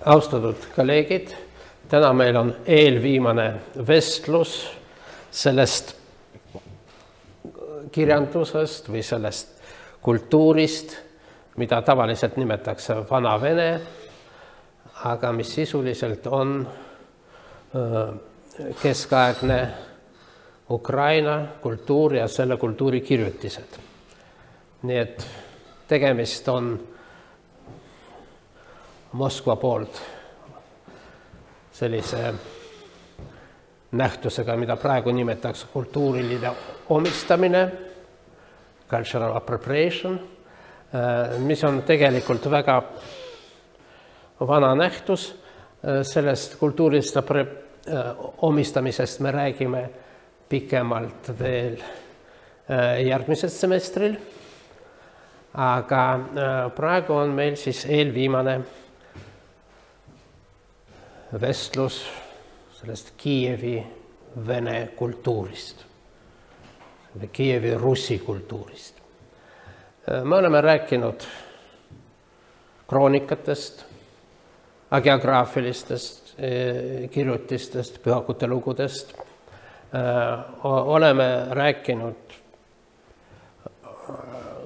Austatud kolleegid, täna meil on eelviimane vestlus sellest kirjandusest või sellest kultuurist, mida tavaliselt nimetatakse Vana-Vene, aga mis sisuliselt on keskaegne Ukraina kultuur ja selle kultuuri kirjutised. Nii et tegemist on Moskva poolt sellise nähtusega, mida praegu nimetatakse kultuuriline omistamine, cultural appropriation, mis on tegelikult väga vana nähtus. Sellest kultuurilist omistamisest me räägime pikemalt veel järgmisel semestril, aga praegu on meil siis eelviimane vestlus sellest Kiievi vene kultuurist, Kiievi russi kultuurist. Me oleme rääkinud kroonikatest, geograafilistest kirjutistest, pühakute lugudest. Oleme rääkinud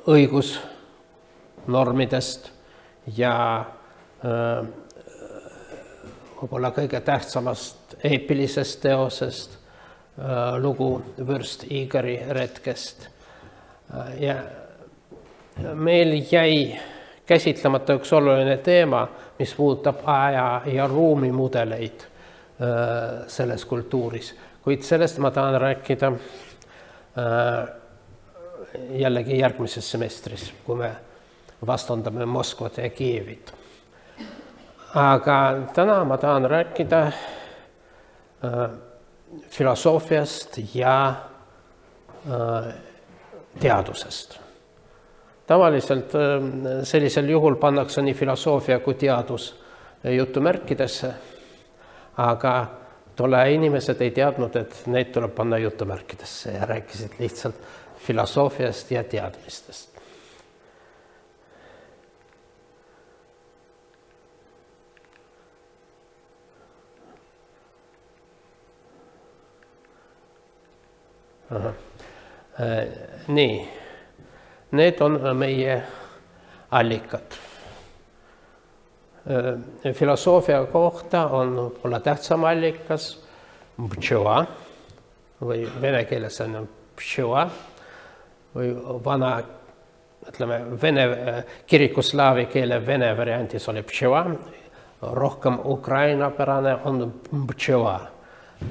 õigusnormidest ja võib-olla kõige tähtsamast eepilisest teosest, lugu Vürst Igori retkest. Ja meil jäi käsitlemata üks oluline teema, mis puudutab aja ja ruumi mudeleid selles kultuuris. Kuid sellest ma tahan rääkida jällegi järgmises semestris, kui me vastandame Moskvat ja Kiievit. Aga täna ma tahan rääkida filosoofiast ja teadusest. Tavaliselt sellisel juhul pannakse nii filosoofia kui teadus jutumärkidesse, aga tolle inimesed ei teadnud, et neid tuleb panna jutumärkidesse ja rääkisid lihtsalt filosoofiast ja teadmistest. Nii, need on meie allikad. Filosoofia kohta on võib-olla tähtsam allikas pšõva või vene keeles on pšõva või vana, ütleme, kirikuslaavi keele vene variantis oli pšõva, rohkem ukrainapärane on pšõva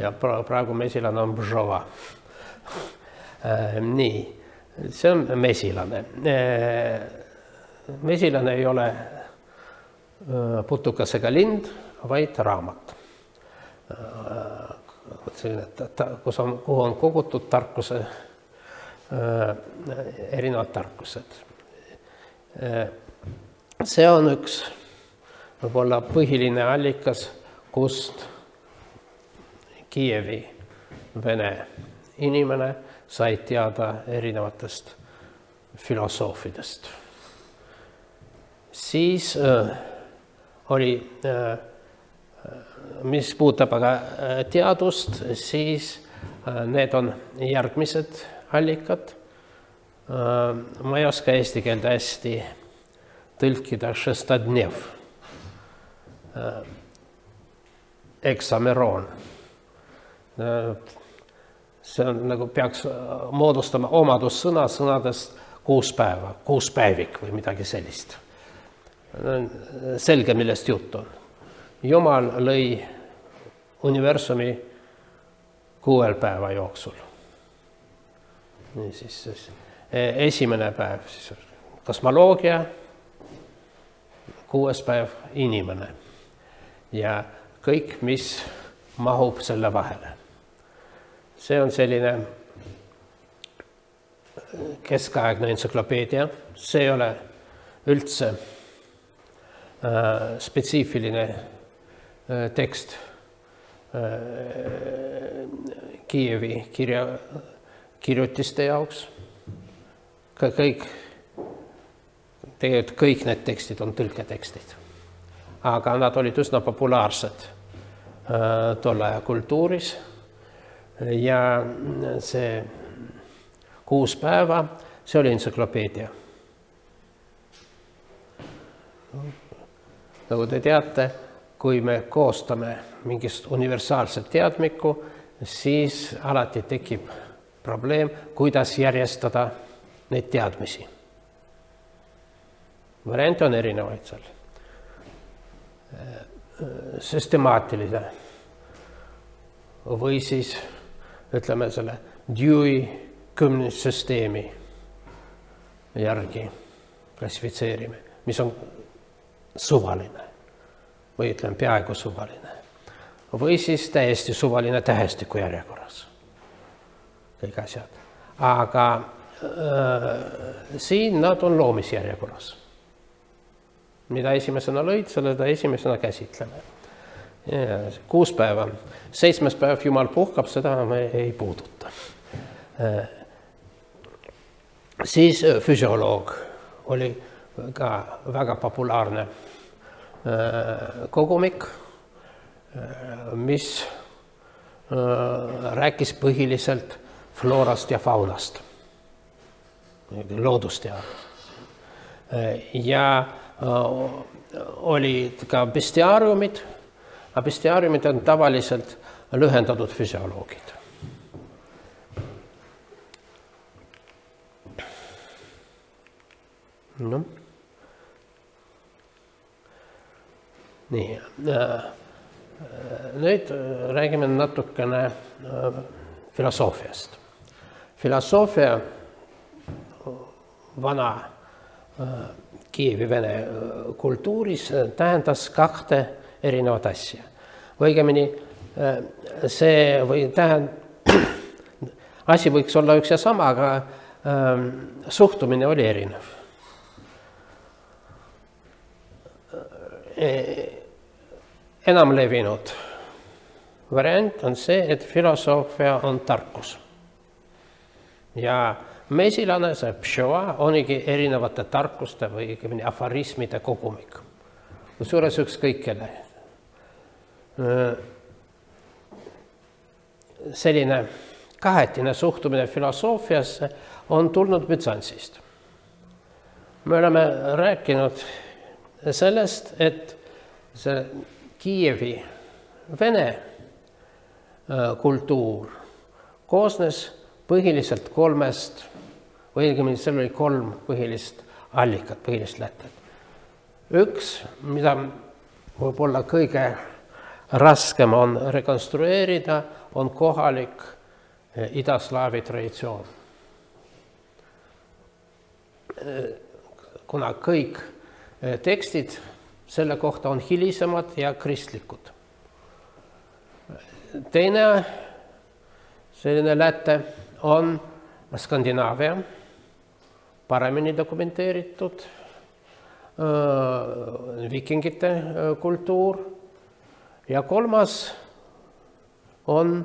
ja praegu mesilane on pšõva. Nii, see on mesilane. Mesilane ei ole putukasega lind, vaid raamat. Kuhu on kogutud tarkuse, erinevad tarkused. See on üks võib-olla põhiline allikas, kust Kiievi vene inimene sai teada erinevatest filosoofidest. Siis oli, mis puudutab aga teadust, siis need on järgmised allikad. Ma ei oska eesti keelde hästi tõlkida šestadnev, eksameroon. See on nagu peaks moodustama omadussõna sõnadest 6 päeva, 6 päevik või midagi sellist. Selge, millest jutt on. Jumal lõi universumi 6 päeva jooksul. Siis esimene päev, siis kosmoloogia, 6 päev inimene ja kõik, mis mahub selle vahele. See on selline keskaegne entsüklopeedia, see ei ole üldse spetsiifiline tekst Kiievi kirjutiste jaoks. Tegelikult kõik need tekstid on tõlketekstid. aga nad olid üsna populaarsed tolle aja kultuuris. Ja see 6 päeva, see oli entsüklopeedia. Nagu te teate, kui me koostame mingist universaalset teadmikku, siis alati tekib probleem, kuidas järjestada neid teadmisi. Variante on erinevaid seal. Süstemaatiline või siis ütleme selle Dewey kümnissüsteemi järgi klassifitseerime, mis on suvaline või ütleme peaaegu suvaline. Või siis täiesti suvaline tähestiku järjekorras. Kõik asjad. Aga siin nad on loomisjärjekorras. Mida esimesena lõid, seda esimesena käsitleme. 6 päeva. 7. päev Jumal puhkab, seda me ei puuduta. Siis füsioloog oli ka väga populaarne kogumik, mis rääkis põhiliselt floorast ja faunast, loodusteadust. Ja olid ka bestiaariumid, aga bestiaariumid on tavaliselt lühendatud füsioloogid. No. Nii, nüüd räägime natukene filosoofiast. Filosoofia vana Kiievi vene kultuuris tähendas 2 erinevat asja. Õigemini see asi võiks olla üks ja sama, aga suhtumine oli erinev. Enam levinud variant on see, et filosoofia on tarkus. Ja mesilane, see pšova, onigi erinevate tarkuste või aforismide kogumik. Kusjuures ükskõik kelle. Selline kahetine suhtumine filosoofiasse on tulnud Büzantsist. Me oleme rääkinud sellest, et see Kiievi vene kultuur koosnes põhiliselt 3, või õigemini seal oli 3 põhilist allikat, põhilist lätet. Üks, mida võib-olla kõige raskem on rekonstrueerida, on kohalik idaslaavi traditsioon. Kuna kõik tekstid selle kohta on hilisemad ja kristlikud. Teine selline läte on Skandinaavia, paremini dokumenteeritud vikingite kultuur ja 3 on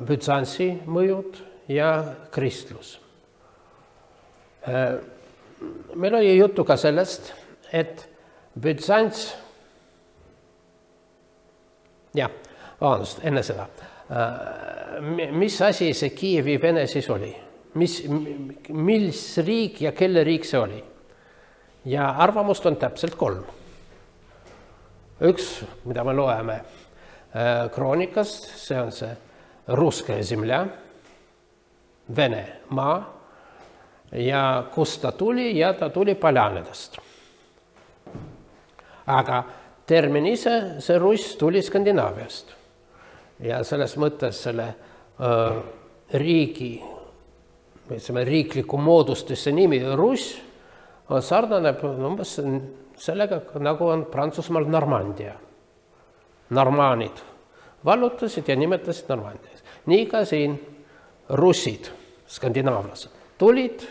Büzantsi mõjud ja kristlus. Meil oli juttu ka sellest, et Büzants, enne seda, mis asi see Kiievi vene siis oli? Mis riik ja kelle riik see oli? Ja arvamust on täpselt 3. Üks, mida me loeme kroonikast, see on see Russkaja zemlja, Vene maa, ja kust ta tuli, ja ta tuli Poljanedest. Aga termin ise, see Russ tuli Skandinaaviast. Ja selles mõttes selle riigi, riikliku moodustisse nimi Russ sarnaneb umbes sellega, nagu on Prantsusmaal Normandia. Normaanid vallutasid ja nimetasid Normandias. Nii ka siin russid, skandinaavlased, tulid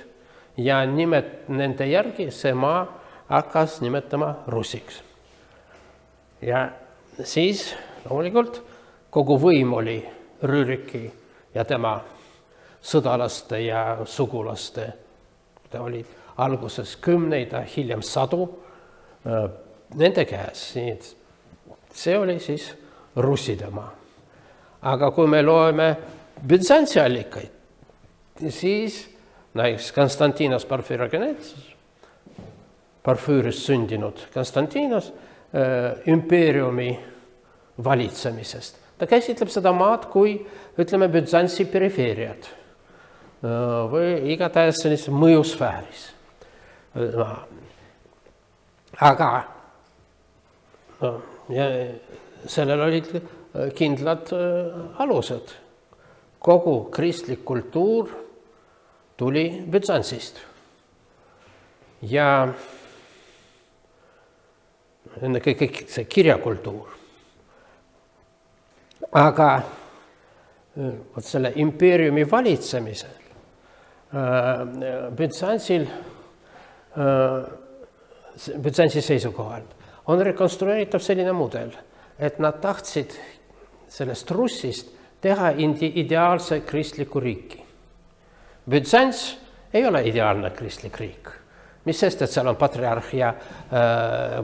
ja nende järgi see maa hakkas nimetama russiks. Ja siis loomulikult kogu võim oli Rüriki ja tema sõdalaste ja sugulaste. Ta oli alguses 10, hiljem 100 nende käes. See oli siis russidemaa. Aga kui me loeme Bütsantsi allikaid, siis näiteks Konstantinos Porfüüris sündinud Konstantinos impeeriumi valitsemisest. Ta käsitleb seda maad kui, ütleme, Bütsantsi perifeeriad või igatahes sellises mõjusfääris. Aga ja sellel olid kindlad alused. Kogu kristlik kultuur tuli Bütsantsist. Ja kõik see kirjakultuur. Aga selle impeeriumi valitsemisel Bütsantsi seisukohalt on rekonstrueeritav selline mudel, et nad tahtsid sellest Russist teha ideaalse kristliku riiki. Bütsants ei ole ideaalne kristlik riik. Mis sest, et seal on patriarh ja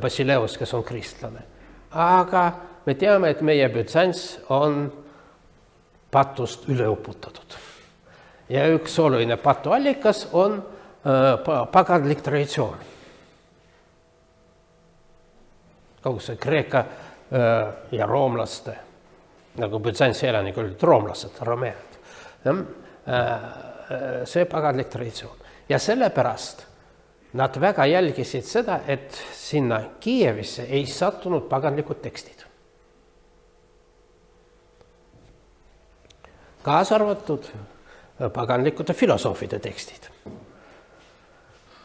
Basileus, kes on kristlane. Aga me teame, et meie Bütsants on patust üle uputatud. Ja üks oluline patuallikas on paganlik traditsioon. Kogu see Kreeka ja roomlaste, nagu Bütsantsi elanikud olid roomlased, romead. See paganlik traditsioon. Ja sellepärast nad väga jälgisid seda, et sinna Kiievisse ei sattunud paganlikud tekstid. Kaasa arvatud paganlikute filosoofide tekstid.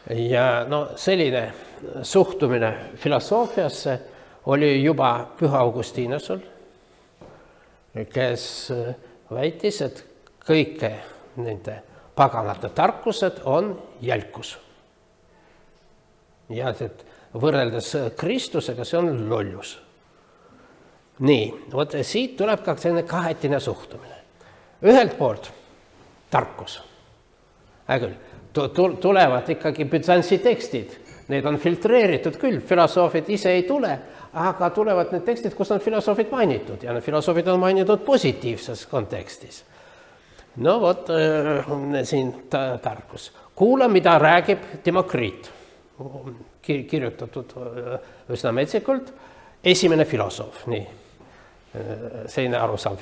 Ja selline suhtumine filosoofiasse oli juba Püha Augustinusel, kes väitis, et kõike nende paganate tarkused on jälkus. Ja et võrreldes Kristusega see on lollus. Nii, vot siit tuleb ka selline kahetine suhtumine. Ühelt poolt tarkus. Tulevad ikkagi Bütsantsi tekstid. Need on filtreeritud küll, filosoofid ise ei tule, aga tulevad need tekstid, kus on filosoofid mainitud ja need filosoofid on mainitud positiivses kontekstis. No vot, siin tarkus. Kuula, mida räägib Demokriit. Kirjutatud üsna metsikult. Esimene filosoof, nii. Selline arusaam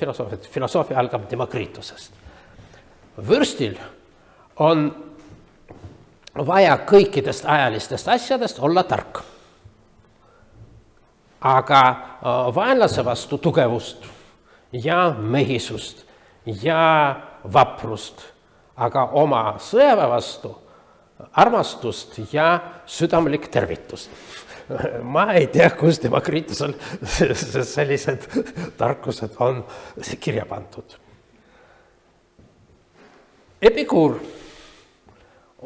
filosoofia algab Demokriitusest. Võrstil on vaja kõikidest ajalistest asjadest olla tark. Aga vaenlase vastu tugevust ja mehisust ja vaprust, aga oma sõjaväe vastu armastust ja südamlik tervitust. Ma ei tea, kus Demokriitusel sellised tarkused on kirja pandud. Epikuur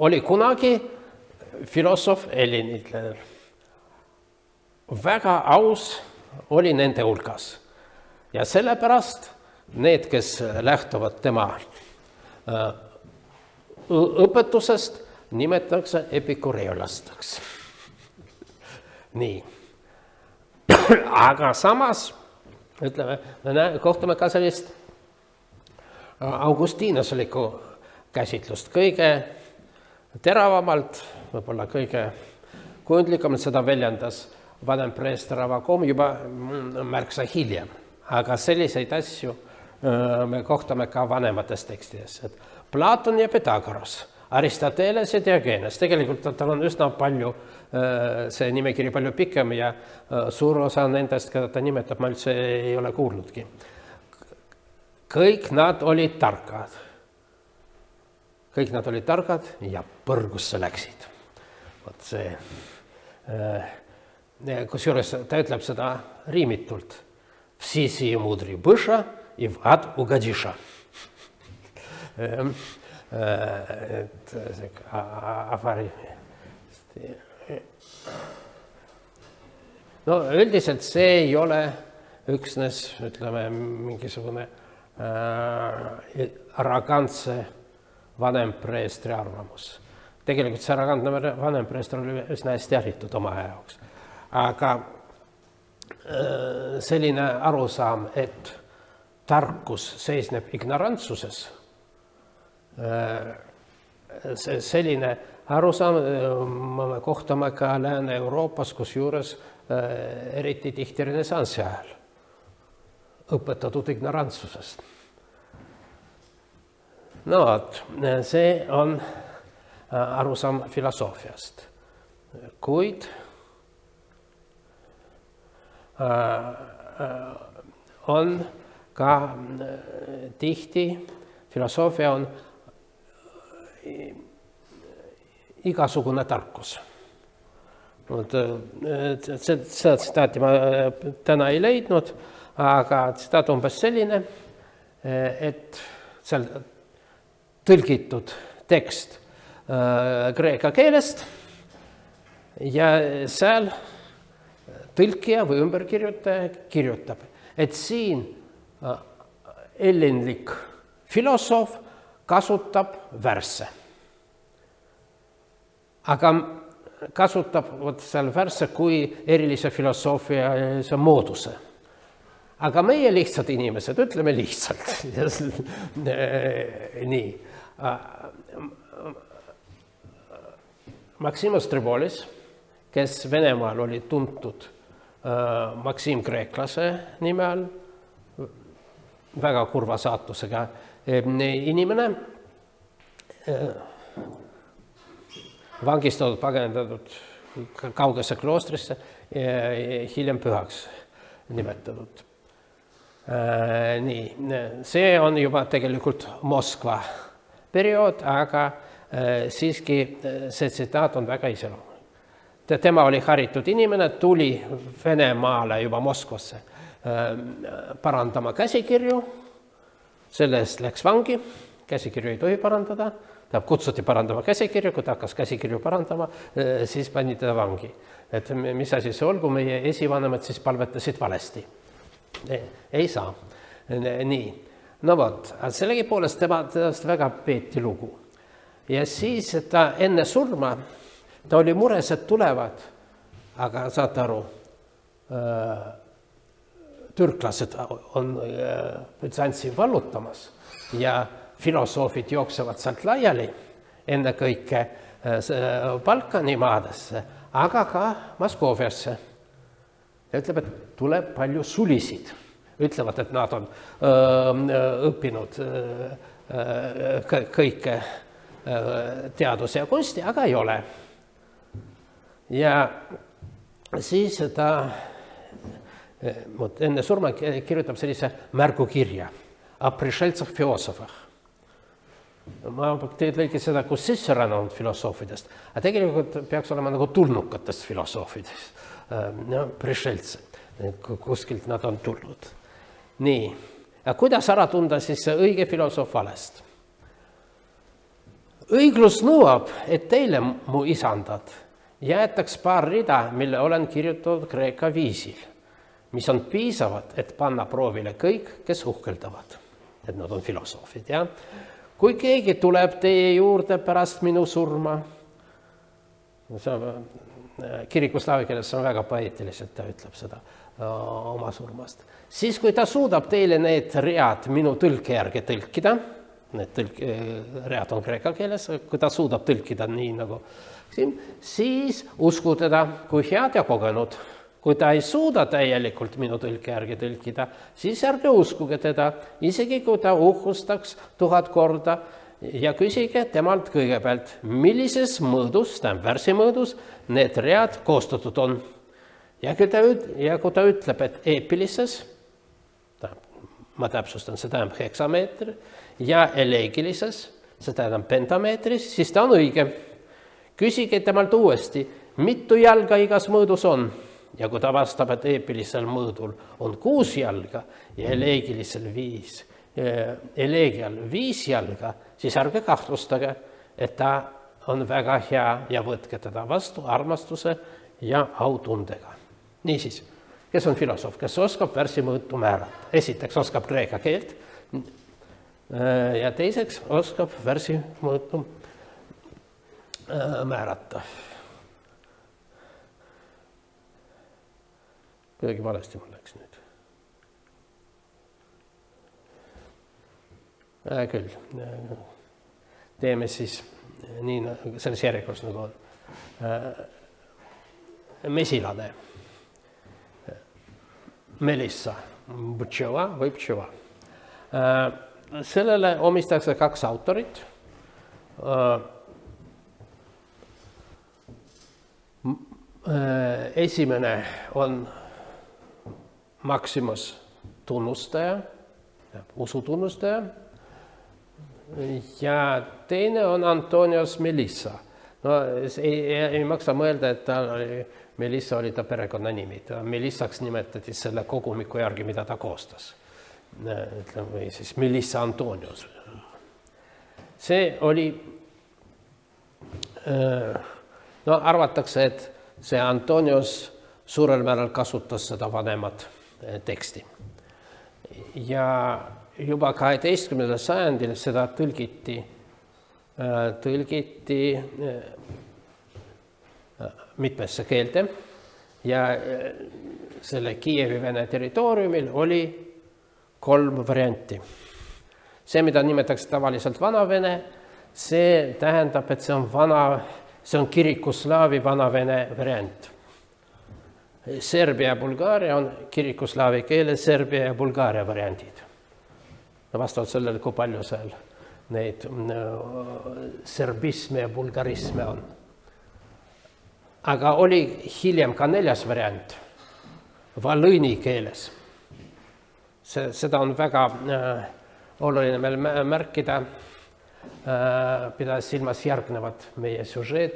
oli kunagi filosoof hellenitler. Väga aus oli nende hulgas. Ja sellepärast need, kes lähtuvad tema õpetusest, nimetatakse epikureolasteks. Nii. Aga samas, ütleme, kohtame ka sellist augustinuslikku käsitlust kõige teravamalt, võib-olla kõige kujundlikumalt seda väljendas vanem preester Avakom juba märksa hiljem. Aga selliseid asju me kohtame ka vanemates tekstides. Et Platon ja Pythagoras, Aristoteles ja Diogenes, tegelikult tal on üsna palju, see nimekiri palju pikem ja suur osa nendest, keda ta nimetab, ma üldse ei ole kuulnudki. Kõik nad olid targad. Kõik nad olid targad ja põrgusse läksid. Vot see, kusjuures ta ütleb seda riimitult. Всі мудрі биша і в ад угодиша. No üldiselt see ei ole üksnes, ütleme, mingisugune arrogantse vanempreestri arvamus. Tegelikult see arrogantne vanempreester oli üsna hästi haritud oma jaoks. Aga selline arusaam, et tarkus seisneb ignorantsuses, selline arusaam me kohtame ka Lääne-Euroopas, kusjuures eriti tihti renessansi ajal õpetatud ignorantsusest. No vot, see on arusaam filosoofiast. Kuid on ka tihti, filosoofia on igasugune tarkus. Seda tsitaati ma täna ei leidnud, aga tsitaat umbes selline, et seal tõlgitud tekst kreeka keelest ja seal tõlkija või ümberkirjutaja kirjutab, et siin ellinlik filosoof kasutab värsse. Aga kasutab seal värsse kui erilise filosoofia mooduse. Aga meie lihtsad inimesed, ütleme lihtsalt. Nii. Maximus Tribolis, kes Venemaal oli tuntud Maksim Kreeklase nime all, väga kurva saatusega inimene, vangistatud, pagendatud kaugesse kloostrisse, hiljem pühaks nimetatud. Nii, see on juba tegelikult Moskva periood, aga siiski see tsitaat on väga iseloomulik. Tema oli haritud inimene, tuli Venemaale juba Moskvasse parandama käsikirju, selle eest läks vangi, käsikirju ei tohi parandada, ta kutsuti parandama käsikirju, kui ta hakkas käsikirju parandama, siis pani teda vangi. Et mis asi see olgu, meie esivanemad siis palvetasid valesti. Ei saa. Nii. No vot, sellegipoolest temast väga peeti lugu. Ja siis ta enne surma, ta oli mures, et tulevad, aga saate aru, türklased on Bütsantsi vallutamas ja filosoofid jooksevad sealt laiali, enne kõike Balkani maadesse, aga ka Moskooviasse. Ja ütleb, et tuleb palju sulisid. Ütlevad, et nad on õppinud kõike teaduse ja kunsti, aga ei ole. Ja siis ta enne surma kirjutab sellise märgukirja о пришельцах философах. Ma lõikin seda kui sisserännanud filosoofidest, aga tegelikult peaks olema nagu tulnukatest filosoofidest. Prišeltse, kuskilt nad on tulnud. Nii, ja kuidas ära tunda siis õige filosoof valest? Õiglus nõuab, et teile, mu isandad, jäetaks paar rida, mille olen kirjutatud kreeka viisil, mis on piisavad, et panna proovile kõik, kes uhkeldavad. Et nad on filosoofid, ja? Kui keegi tuleb teie juurde pärast minu surma, kirikuslaavi keeles on väga poeetiliselt, ta ütleb seda oma surmast. Siis, kui ta suudab teile need read minu tõlke järgi tõlkida, need read on kreeka keeles, kui ta suudab tõlkida nii nagu siin, siis usku teda kui head ja kogenud. Kui ta ei suuda täielikult minu tõlke järgi tõlkida, siis ärge uskuge teda, isegi kui ta uhkustaks 1000 korda ja küsige temalt kõigepealt, millises mõõdus, värsi mõõdus, need read koostatud on. Ja kui ta ütleb, et eepilises, ma täpsustan, see tähendab heksameetri, ja eleegilises, see tähendab pentameetris, siis ta on õige. Küsige temalt uuesti, mitu jalga igas mõõdus on. Ja kui ta vastab, et eepilisel mõõdul on 6 jalga ja eleegilisel 5, eleegial 5 jalga, siis ärge kahtlustage, et ta on väga hea ja võtke teda vastu armastuse ja autundega. Niisiis, kes on filosoof, kes oskab värsi mõõtu määrata? Esiteks oskab kreeka keelt ja teiseks oskab värsi mõõtu määrata. Kuidagi valesti mul läks nüüd. Küll. Teeme siis nii selles järjekorras nagu on. Mesilane. Melissa. Ptšela või ptšela. Sellele omistatakse 2 autorit. Esimene on Maximus tunnustaja, usutunnustaja. Ja teine on Antonios Melissa. No, ei maksa mõelda, et Melissa oli ta perekonnanimi. Melissaks nimetati selle kogumiku järgi, mida ta koostas. Või siis Melissa Antonios. See oli, arvatakse, et see Antonios suurel määral kasutas seda vanemat teksti. Ja juba 12. sajandil seda tõlgiti mitmesse keelte ja selle Kiievi Vene territooriumil oli 3 varianti. See, mida nimetatakse tavaliselt Vana-Vene, see tähendab, et see on kirikuslaavi Vana-Vene variant. Serbia ja Bulgaaria on kirikuslaavi keele Serbia ja Bulgaaria variandid. Vastavalt sellele, kui palju seal neid serbisme ja bulgarisme on. Aga oli hiljem ka 4. variant, valõni keeles. Seda on väga oluline meil märkida, pidades silmas järgnevat meie süžeed,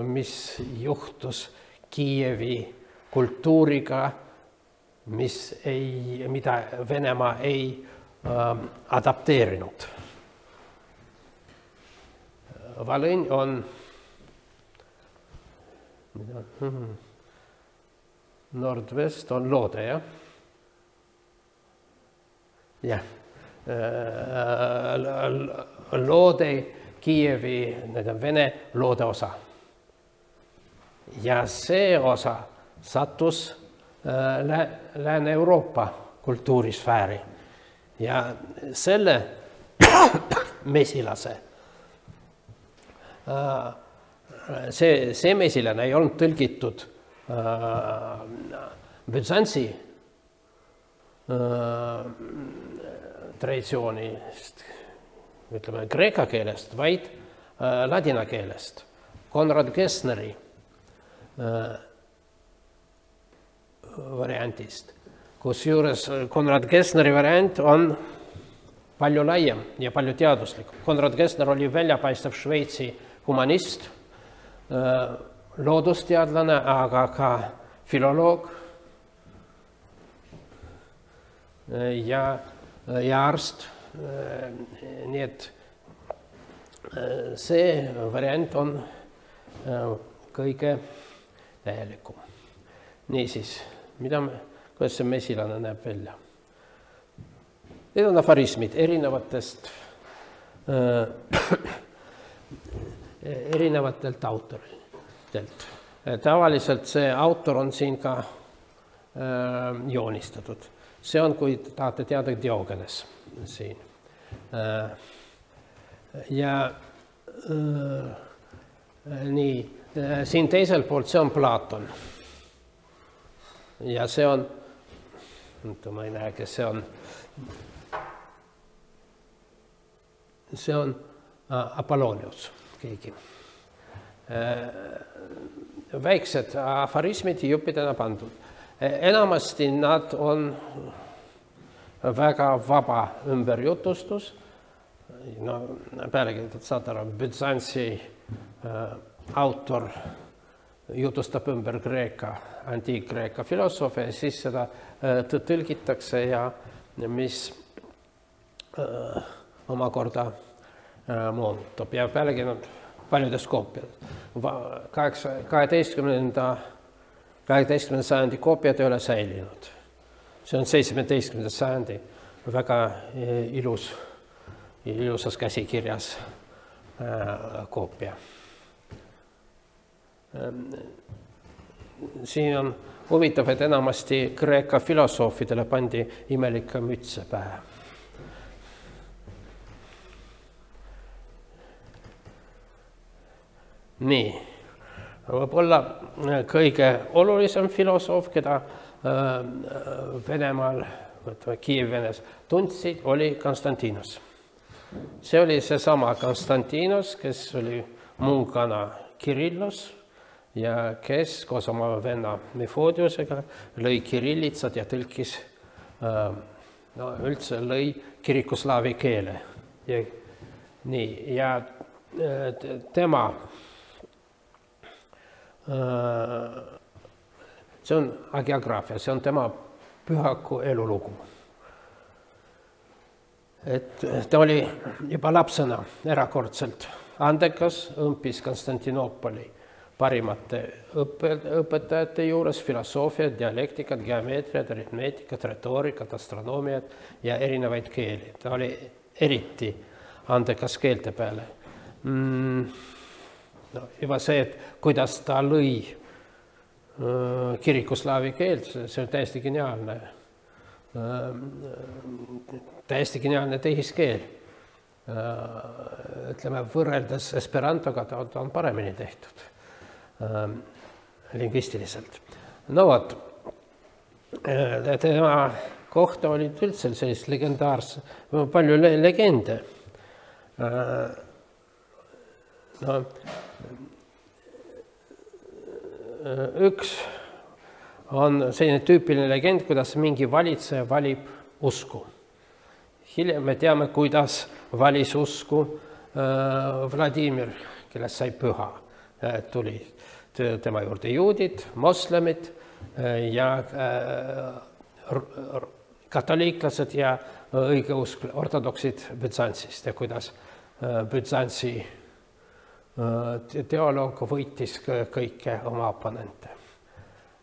mis juhtus Kiievi kultuuriga, mida Venemaa ei adapteerinud. Valõnn on nordvest on Loode, jah? Jah. Loode Kiievi, Vene Loode osa. Ja see osa sattus Lääne-Euroopa kultuurisfääri. Ja selle mesilase, see mesilane ei olnud tõlgitud Büzantsi traditsioonist, ütleme kreeka keelest, vaid ladina keelest, Konrad Gessneri variantist. Kusjuures Konrad Gessneri variant on palju laiem ja palju teaduslik. Konrad Gessner oli väljapaistev Šveitsi humanist, loodusteadlane, aga ka filoloog ja arst. Nii et see variant on kõige täielikum. Niisiis, kuidas see mesilane näeb välja? Need on aforismid erinevatelt autoritelt. Tavaliselt see autor on siin ka joonistatud. See on, kui tahate teada, Diogenes siin. Ja nii, siin teisel poolt see on Platon. Ja see on, ma ei näe, kes see on. See on Apollonius, keegi. Väiksed aforismid juppidena pandud. Enamasti nad on väga vaba ümberjutustus. No, pealegi, saad aru, Büzantsi autor jutustab ümber antiik-Kreeka filosoofia ja siis seda tõlgitakse ja mis omakorda muutub ja pealegi paljudes koopiad. 18. sajandi koopiad ei ole säilinud. See on 17. sajandi väga ilusas käsikirjas koopia. Siin on huvitav, et enamasti Kreeka filosoofidele pandi imelikke mütse pähe. Nii, võib-olla kõige olulisem filosoof, keda Venemaal, Kiiev-Venes tundsid, oli Konstantinos. See oli seesama Konstantinos, kes oli mungana Kirillus ja kes koos oma venna Mefodiusega lõi kirillitsad ja tõlkis, üldse lõi kirikuslaavi keele. Ja tema see on agiograafia, see on tema pühaku elulugu. Et ta oli juba lapsena erakordselt andekas, õmpis Konstantinoopoli parimate õpetajate juures filosoofiat, dialektikat, geomeetriat, aritmeetikat, retoorikat, astronoomiat ja erinevaid keeli. Ta oli eriti andekas keelte peale. Juba see, et kuidas ta lõi kirikuslaavi keelt, see on täiesti geniaalne tehiskeel. Ütleme, võrreldes Esperantoga ta on paremini tehtud lingvistiliselt. No vot, tema kohta olid üldse sellist legendaarse, palju legende. Üks on selline tüüpiline legend, kuidas mingi valitseja valib usku. Hiljem me teame, kuidas valis usku Vladimir, kellest sai püha. Tuli tema juurde juudid, moslemid ja katoliiklased ja õigeusk ortodoksid Büzantsist ja kuidas Büzantsi teoloog võitis kõike oma oponente.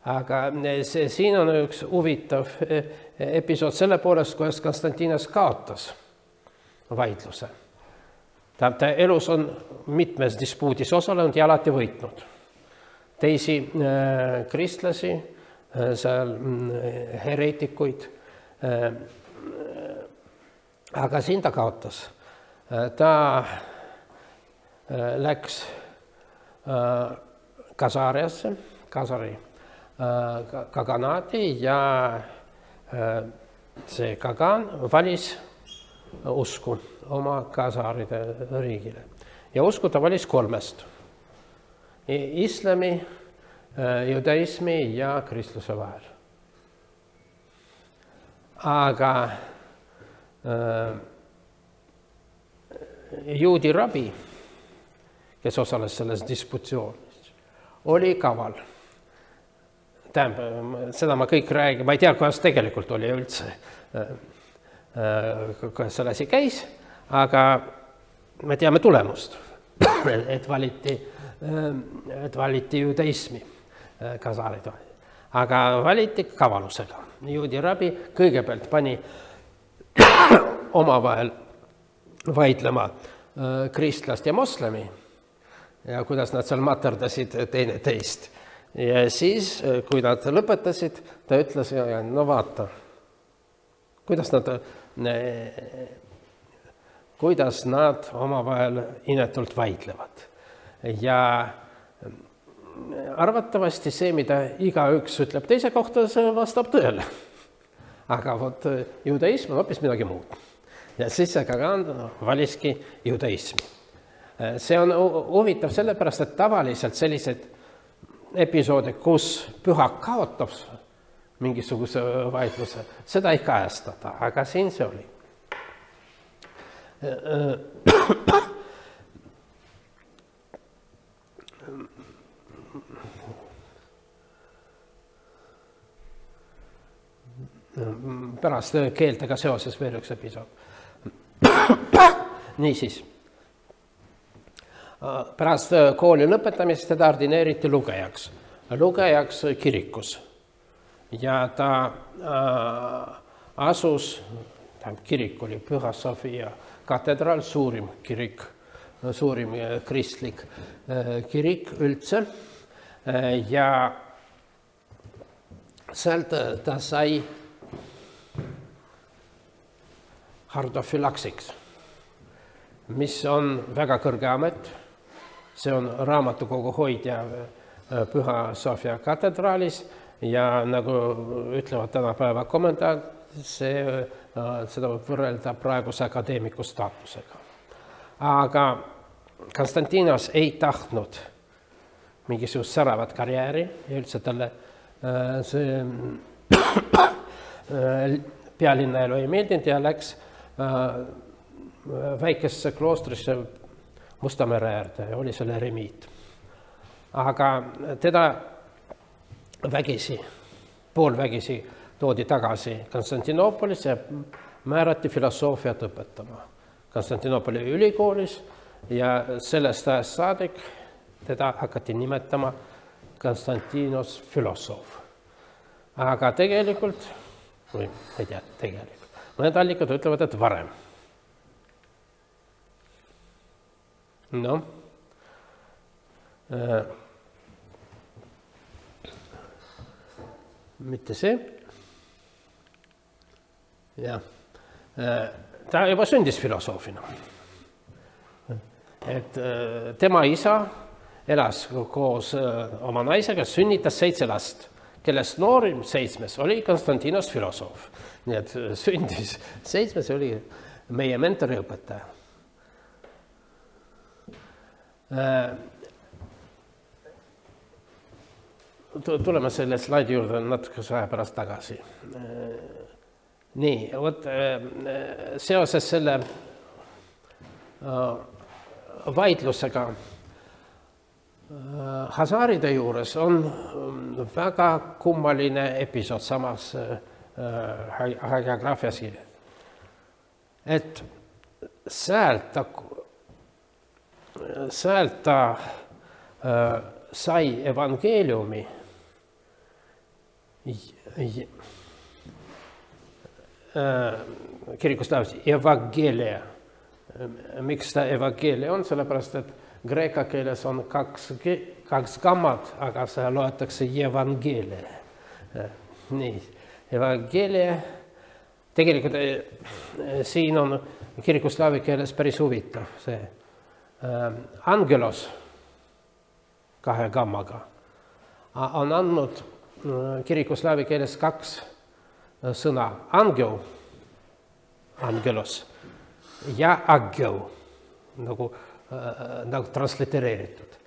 Aga siin on üks huvitav episood selle poolest, kuidas Konstantinos kaotas vaidluse. Ta elus on mitmes dispuudis osalenud ja alati võitnud. Teisi kristlasi, seal hereetikuid, aga siin ta kaotas. Ta läks Kasariasse, Kasari kaganaati ja see kagan valis usku oma kasaride riigile. Ja usku ta valis 3: islami, judaismi ja kristluse vahel. Aga juudi rabi, kes osales selles disputsioonis, oli kaval. Tähendab, seda ma kõik räägin, ma ei tea, kuidas tegelikult oli üldse, kuidas selle asi käis, aga me teame tulemust, et valiti judaismi kasarid, aga valiti kavalusega. Juudi rabi kõigepealt pani omavahel vaidlema kristlast ja moslemi ja kuidas nad seal materdasid teine teist. Ja siis, kui nad lõpetasid, ta ütles, no vaata, kuidas nad omavahel inetult vaidlevad. Ja arvatavasti see, mida igaüks ütleb teise kohta, see vastab tõele. Aga vot judaism on hoopis midagi muud. Ja siis see kagan valiski judaismi. See on huvitav sellepärast, et tavaliselt sellised episoode, kus pühak kaotab mingisuguse vaidluse, seda ei kajastada, aga siin see oli. Pärast keeltega seoses veel üks episood. Niisiis. Pärast kooli lõpetamist teda ordineeriti lugejaks kirikus. Ja ta asus, kirik oli Püha Sofia katedraal, suurim kirik, suurim kristlik kirik üldse. Ja sealt ta sai hardofilaksiks, mis on väga kõrge amet. See on raamatukogu hoidja Püha Sofia katedraalis ja nagu ütlevad tänapäeva kommentaarid, seda võib võrrelda praeguse akadeemiku staatusega. Aga Konstantinos ei tahtnud mingisugust säravat karjääri ja üldse talle see pealinna elu ei meeldinud ja läks väikesse kloostrisse Musta mere äärde ja oli selle eremiit. Aga teda vägisi, poolvägisi toodi tagasi Konstantinoopolis ja määrati filosoofiat õpetama Konstantinoopoli ülikoolis ja sellest ajast saadik teda hakati nimetama Konstantinos filosoof. Aga tegelikult, või ma ei tea, tegelikult, mõned allikad ütlevad, et varem. No, mitte see. Ja, ta juba sündis filosoofina. Et tema isa elas koos oma naisega, sünnitas 7 last, kellest noorim 7 oli Konstantinos filosoof. Nii et sündis 7, oli meie mentori õpetaja. Tuleme selle slaidi juurde natuke aja pärast tagasi. Nii, seoses selle vaidlusega Hazaride juures on väga kummaline episood samas hagiograafias kirjas. Et sealt ta sai evangeeliumi kirikus tähendab evangeelia. Miks ta evangeelia on? Sellepärast, et kreeka keeles on 2 gammad, aga see loetakse evangeelia. Nii, evangeelia. Tegelikult siin on kirikuslaavi keeles päris huvitav see. Angelos 2 gammaga on andnud kirikuslaavi keeles 2 sõna. Angel, angelos ja ageu, nagu translitereeritud.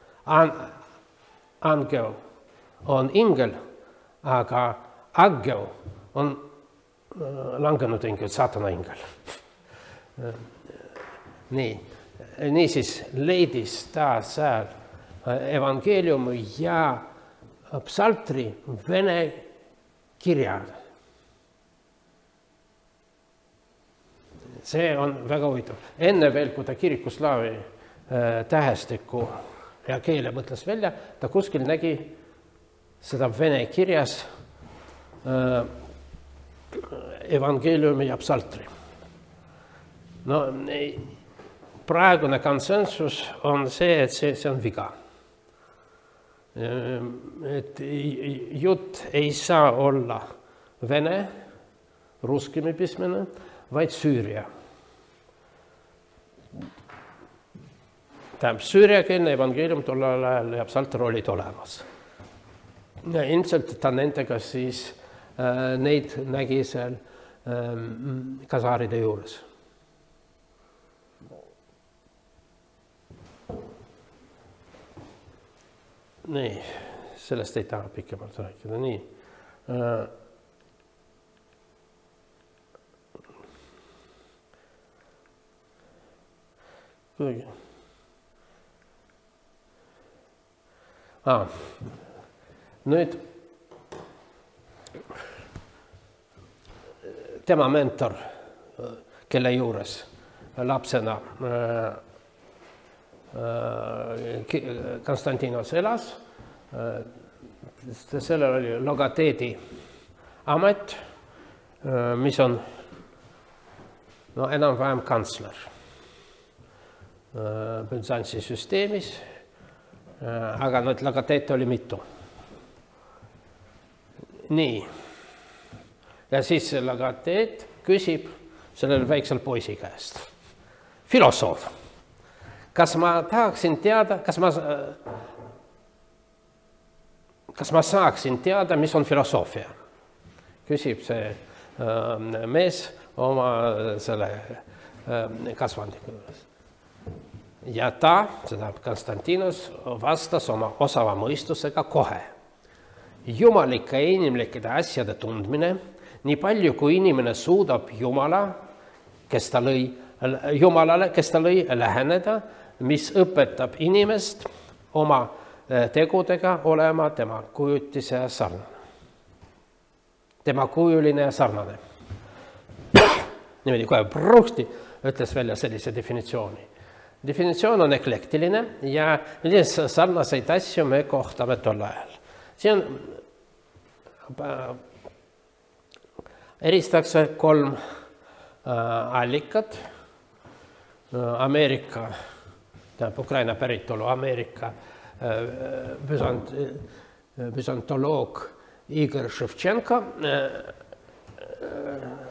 Angel on ingel, aga ageu on langenud ingel, saatana ingel. Niisiis leidis ta seal evangeeliumi ja psaltri vene kirjad. See on väga huvitav. Enne veel, kui ta kirikuslaavi tähestiku ja keele mõtles välja, ta kuskil nägi seda vene kirjas evangeeliumi ja psaltri. No, praegune konsensus on see, et see on viga. Et jutt ei saa olla vene, ruskimi pismene, vaid Süüria. Tähendab, süüriakeelne evangeelium tollel ajal ja psalter olid olemas. Ja ilmselt ta nendega siis neid nägi seal Khazaride juures. Nii, sellest ei taha pikemalt rääkida. Nii. Nüüd tema mentor, kelle juures lapsena Konstantinos elas, sellel oli logoteedi amet, mis on enam-vähem kantsler Byzantsi süsteemis, aga logoteete oli mitu. nii. Ja siis Lagateet küsib sellel väiksel poisi käest. Filosoof, kas ma tahaksin teada, kas ma saaksin teada, mis on filosoofia? Küsib see mees oma selle kasvandiku juures. Ja ta, seda Konstantinos, vastas oma osava mõistusega kohe. Jumalike ja inimlike asjade tundmine, nii palju kui inimene suudab Jumalale, kes ta lõi läheneda, mis õpetab inimest oma tegudega olema tema kujutise ja sarnane. Tema kujuline ja sarnane. Niimoodi kohe pruhti ütles välja sellise definitsiooni. Definitsioon on eklektiline ja sarnaseid asju me kohtame tol ajal. See on eristatakse 3 allikat. Ameerika, Ukraina päritolu Ameerika büsantoloog Igor Ševtšenko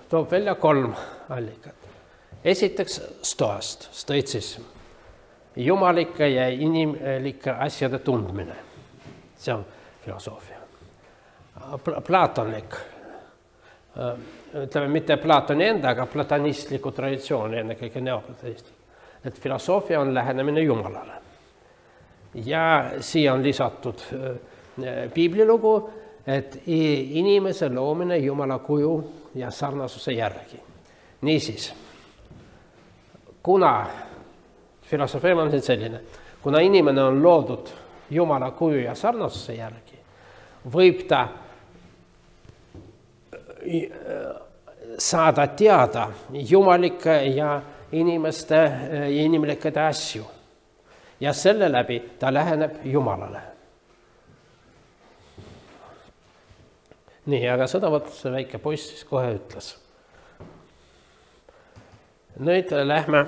toob välja 3 allikat. Esiteks stoast, stoitsism, jumalike ja inimlike asjade tundmine. See on filosoofia. Platonlik, ütleme mitte Platoni enda, aga platonistliku traditsiooni, ennekõike neoplatonistlik. Et filosoofia on lähenemine Jumalale. Ja siia on lisatud piiblilugu, et inimese loomine Jumala kuju ja sarnasuse järgi. Niisiis, kuna filosofia on selline, kuna inimene on loodud Jumala kuju ja sarnasuse järgi, võib ta saada teada jumalike ja inimeste ja inimlikede asju. Ja selle läbi ta läheneb Jumalale. Nii, aga seda see väike poiss siis kohe ütles. Nüüd lähme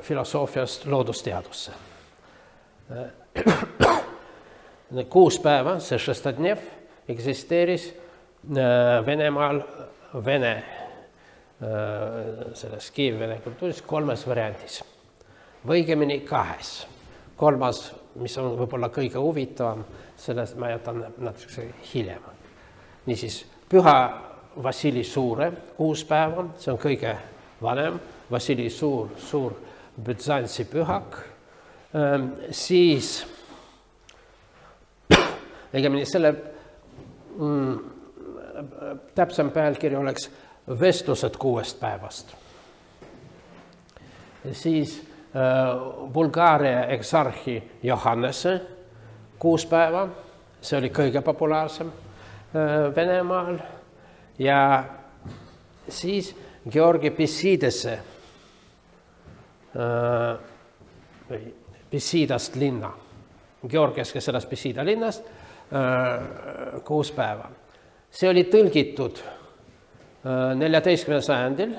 filosoofiast loodusteadusse. 6 päeva, see šestadnev, eksisteeris Venemaal selles Kiievi-Vene kultuuris 3 variandis. Võigemini 2. 3, mis on võib-olla kõige huvitavam, sellest ma jätan natuke hiljem. Niisiis, püha Vassili Suure 6 päeva, see on kõige vanem, Vassili Suur Büzantsi pühak, siis õigemini selle täpsem pealkiri oleks vestlused 6 päevast. Siis Bulgaaria eksarhi Johannese 6 päeva, see oli kõige populaarsem Venemaal, ja siis Georgi Pisidese, Pisidast linna, Georgias, kes elas Pisida linnast, 6 päeva. See oli tõlgitud 14. sajandil,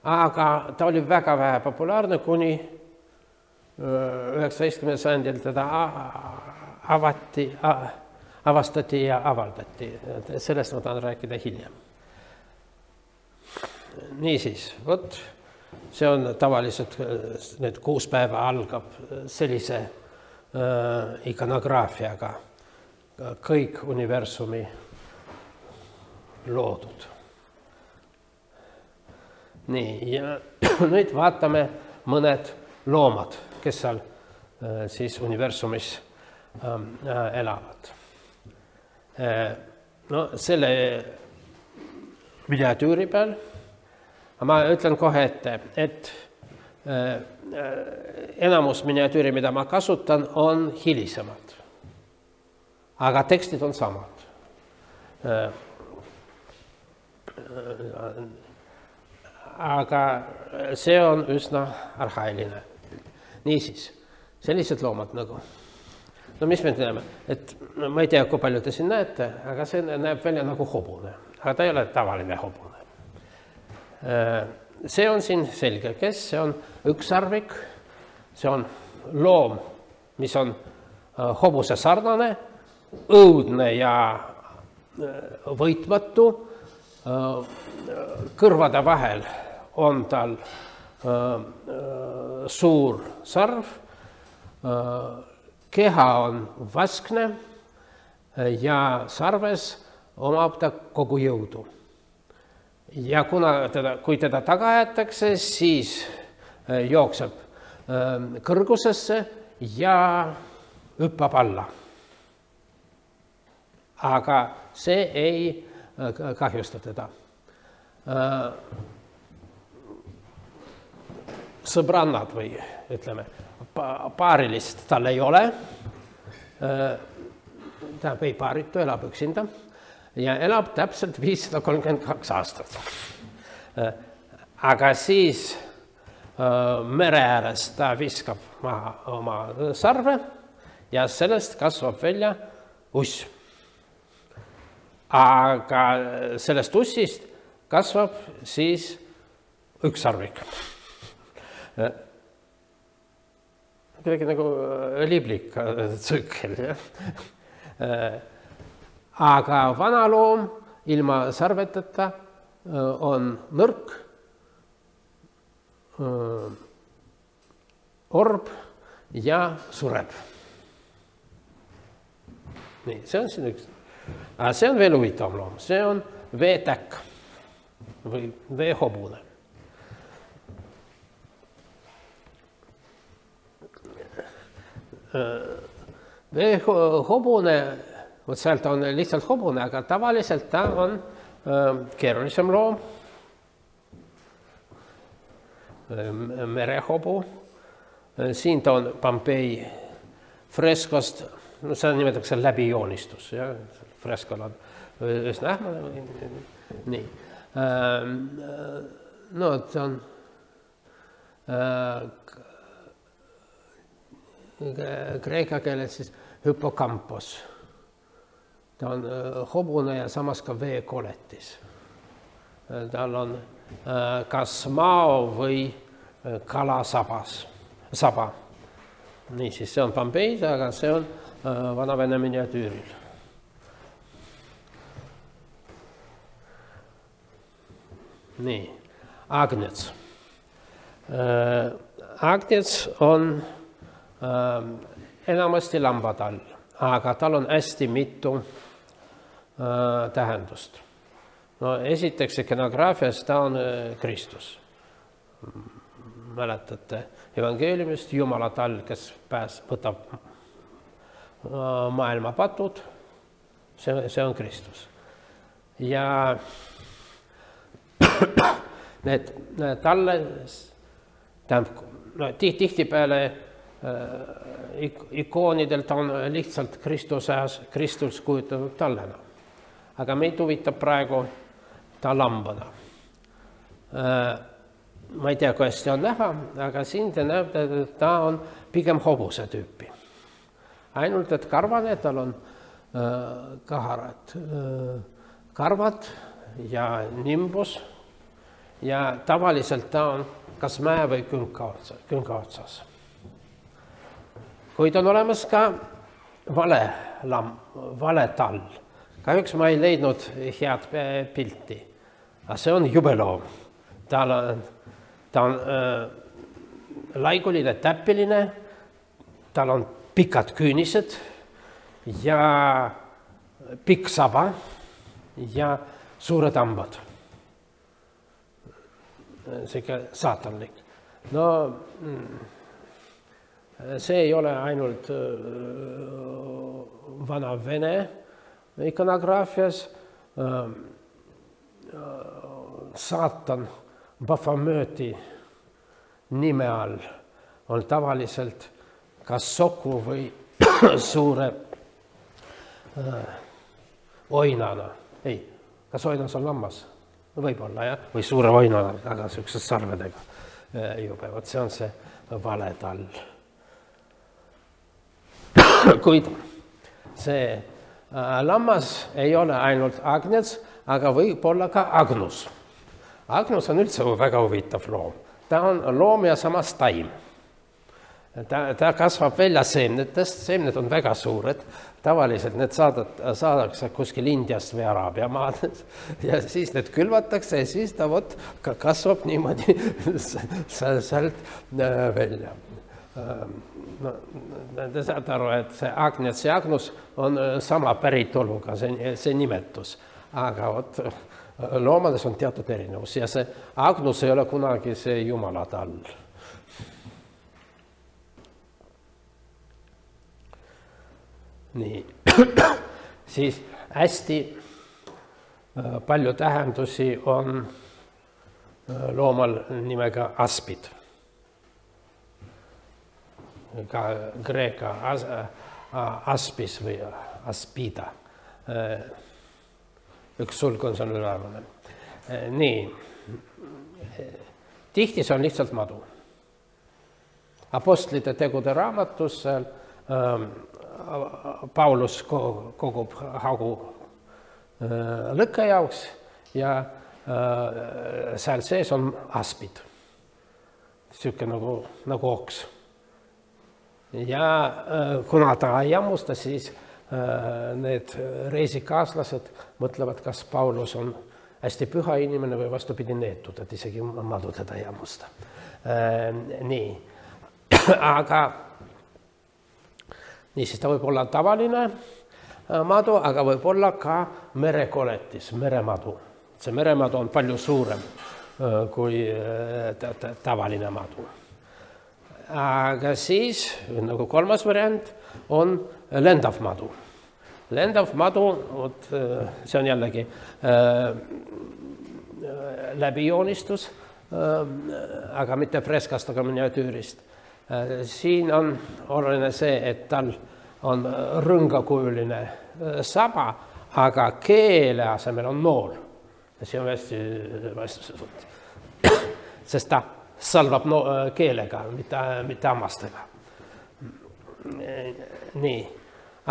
aga ta oli väga vähe populaarne, kuni 19. sajandil teda avastati ja avaldati. Sellest ma tahan rääkida hiljem. Niisiis, vot, see on tavaliselt, need 6 päeva algab sellise ikonograafiaga, kõik universumi loodud. Nii, ja nüüd vaatame mõned loomad, kes seal siis universumis elavad. No selle miniatüüri peal ma ütlen kohe ette, et enamus miniatüüri, mida ma kasutan, on hilisemad. Aga tekstid on samad. Aga see on üsna arhailine. Niisiis, sellised loomad nagu. No mis me teeme? Et ma ei tea, kui palju te siin näete, aga see näeb välja nagu hobune. Aga ta ei ole tavaline hobune. See on siin selge, kes see on ükssarvik, see on loom, mis on hobuse sarnane, õudne ja võitmatu. Kõrvade vahel on tal suur sarv, keha on vaskne ja sarves omab ta kogu jõudu. Ja kui teda taga aetakse, siis jookseb kõrgusesse ja hüppab alla. Aga see ei kahjusta teda. Sõbrannad või ütleme, paarilist tal ei ole. Ta ei paaritu, elab üksinda ja elab täpselt 532 aastat. Aga siis mere ääres ta viskab maha oma sarve ja sellest kasvab välja uss. Aga sellest ussist kasvab siis ükssarvik. Kuidagi nagu liblik tsükkel. Aga vana loom ilma sarveteta on nõrk, orb ja sureb. Nii, see on siin üks. Aga see on veel huvitav loom, see on veetäkk või veehobune. Veehobune, vot sealt on lihtsalt hobune, aga tavaliselt ta on keerulisem loom. Merehobu. Siin ta on Pompei freskost, seda nimetatakse läbijoonistus. Freskol on üsna ähmane. Nii. No, ta on kreeka keeles siis hüpokampos. Ta on hobune ja samas ka veekoletis. Tal on kas mao või kalasaba. Niisiis, see on Pompeis, aga see on Vana-Vene miniatüüril. Nii, agnets. Agnets on enamasti lambatall, aga tal on hästi mitu tähendust. No, esiteks ikonograafias ta on Kristus. Mäletate evangeeliumist, Jumala tall, kes võtab maailma patud, see on Kristus. Ja need talle, tihtipeale ikoonidelt on lihtsalt Kristus kujutatud tallena. Aga meid huvitab praegu ta lambana. Ma ei tea, kui hästi on näha, aga siin te näete, et ta on pigem hobuse tüüpi. Ainult, et karvane, tal on kaharad karvad ja nimbus ja tavaliselt ta on kas mäe või künka otsas. Kuid on olemas ka vale tall. Kahjuks ma ei leidnud head pilti, aga see on jubeloom. Ta on laiguline, täppiline, tal on pikad küünised ja pikk saba ja suured hambad. Seega saatanlik. No, see ei ole ainult Vana-Vene ikonograafias. Saatan Baphomet'i nime all on tavaliselt kas soku või suure oinana. Ei, kas oinas on lammas? Võib-olla, jah? Või suure oinana, aga sellised sarvedega jubevad. See on see vale tall. Kuid see lammas ei ole ainult agnets, aga võib olla ka agnus. Agnus on üldse väga huvitav loom. Ta on loom ja samas taim. Ta kasvab välja seemnetest, seemned on väga suured, tavaliselt need saadakse kuskil Indiast või Araabia maades ja siis need külvatakse ja siis ta kasvab niimoodi sealt välja. No, te saate aru, et see Agnets ja Agnus on sama päritoluga, see nimetus, aga loomades on teatud erinevus ja see Agnus ei ole kunagi see Jumala tall. Nii, siis hästi palju tähendusi on loomal nimega aspid. Ka kreeka aspis või aspida. Üks sulg on seal üleval. Nii, tihti see on lihtsalt madu. Apostlite tegude raamatus Paulus kogub hagu lõkke jaoks ja seal sees on aspid. Siuke nagu oks. Ja kuna ta ei jammusta, siis need reisikaaslased mõtlevad, kas Paulus on hästi püha inimene või vastupidi neetud, et isegi madu teda ei jammusta. Nii, aga niisiis ta võib olla tavaline madu, aga võib olla ka merekoletis, meremadu. See meremadu on palju suurem kui tavaline madu. Aga siis, nagu kolmas variant, on lendav madu. Lendav madu, see on jällegi läbijoonistus, aga mitte freskast, aga miniatüürist. Siin on oluline see, et tal on rõngakujuline saba, aga keele asemel on nool. See on hästi, sest ta salvab keelega, mitte hammastega. Nii,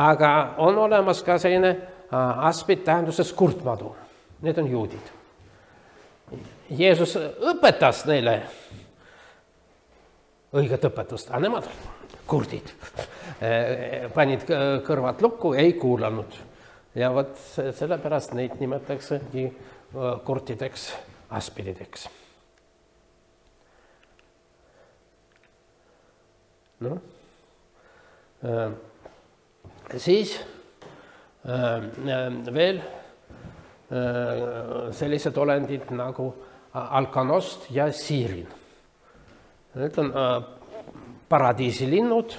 aga on olemas ka selline aspid tähenduses kurtmadu. Need on juudid. Jeesus õpetas neile õiget õpetust, aga nemad kurdid. Panid kõrvad lukku, ei kuulanud. Ja sellepärast neid nimetaksegi kurtideks aspidideks. No. Siis veel sellised olendid nagu alkanost ja siirin. Need on paradiisilinnud,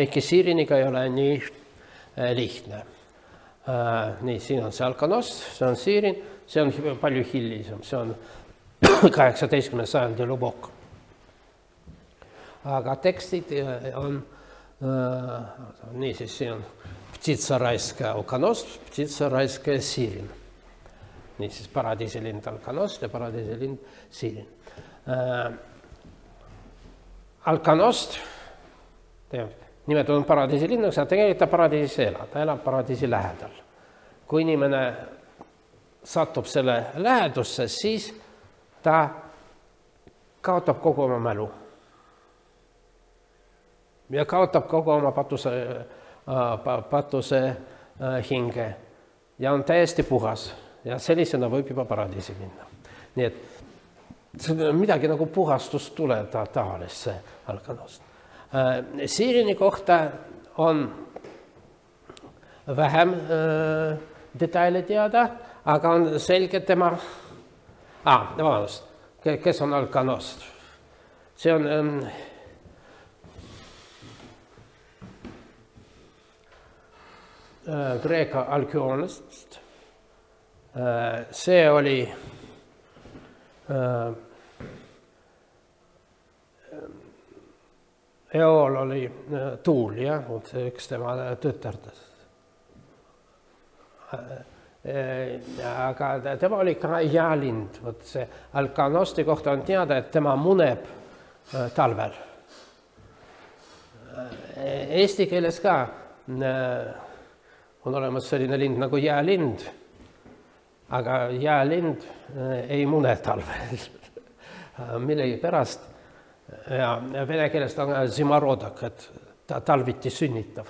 ehkki siiriniga ei ole nii lihtne. Nii, siin on see alkanost, see on siirin, see on palju hilisem, see on 18. sajandi lubok. Aga tekstid on, niisiis, siin on ptitsa raiska alkanost, ptitsa raiska siirin. Niisiis, paradiisilind alkanost ja paradiisilind siirin. Alkanost, nimed on paradiisilinnaks, aga tegelikult ta paradiisis elab, ta elab paradiisi lähedal. Kui inimene satub selle lähedusse, siis ta kaotab kogu oma mälu. Ja kaotab kogu oma patuse hinge ja on täiesti puhas ja sellisena võib juba paradiisi minna. Nii et midagi nagu puhastust tuleb taolist see alkanost. Siirini kohta on vähem detaile teada, aga on selge tema... vabandust, kes on alkanost? See on... Kreeka alkioonist. See oli Eol oli Tuulia, üks tema tütardest. Aga tema oli ka jaalind. See alkanosti kohta on teada, et tema muneb talvel. Eesti keeles ka on olemas selline lind nagu jäälind, aga jäälind ei mune talvel. Millegi pärast Ja vene keelest on zimorodak, et ta talviti sünnitav.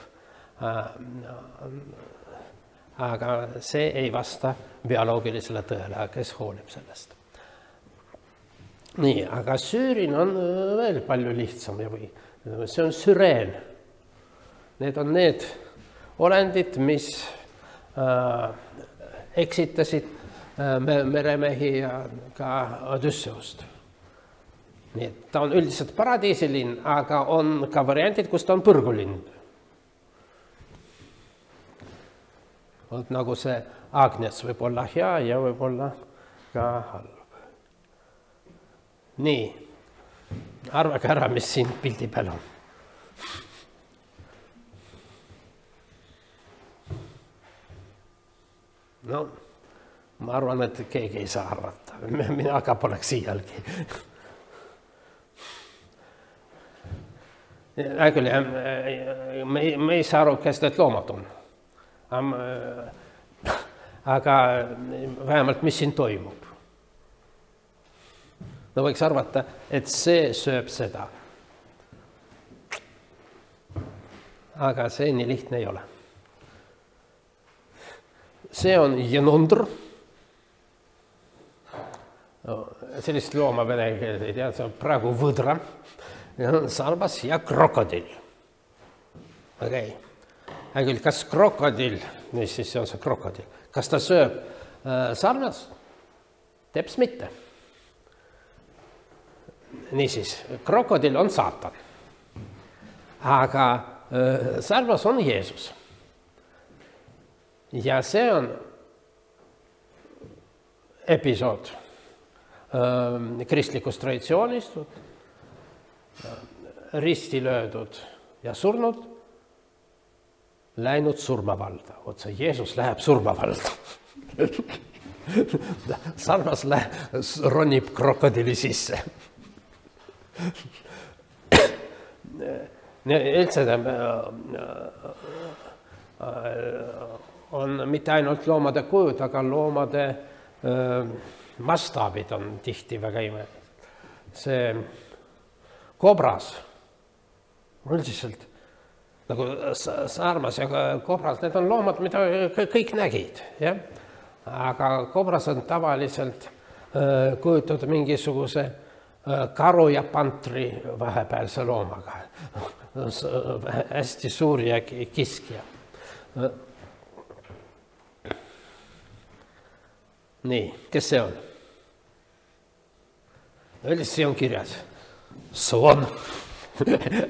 Aga see ei vasta bioloogilisele tõele, kes hoolib sellest. Nii, aga süürin on veel palju lihtsam. See on süreen. Need on need olendid, mis eksitasid meremehi ja ka Odüsseust. Nii, et ta on üldiselt paradiisilinn, aga on ka variandid, kus ta on põrgulind. Nagu see Agnes võib olla hea ja võib olla ka halb. Nii, arvage ära, mis siin pildi peal on. No, ma arvan, et keegi ei saa arvata. Mina ka poleks iialgi. Küll, me ei saa aru, kes need loomad on. Aga vähemalt, mis siin toimub. No võiks arvata, et see sööb seda. Aga see nii lihtne ei ole. See on jenundr. Sellist looma vene keeles ei tea, see on praegu võdra. Sarbas ja krokodill. Okei. Küll, kas krokodill, mis siis on see krokodill, kas ta sööb sarnas? Teps mitte. Niisiis, krokodill on saatan. Aga sarnas on Jeesus. Ja see on episood kristlikust traditsioonist, risti löödud ja surnud, läinud surmavalda. Otse Jeesus läheb surmavalda. Sarvas ronib krokodilli sisse. Üldse on mitte ainult loomade kujud, aga loomade mastaabid on tihti väga imelised. See kobras, üldiselt nagu sarmas ja kobras, need on loomad, mida kõik nägid. Ja? Aga kobras on tavaliselt kujutatud mingisuguse karu ja pantri vahepealse loomaga. Hästi suur ja kiskja. Nii, kes see on? Üldiselt see on kirjas. Soon,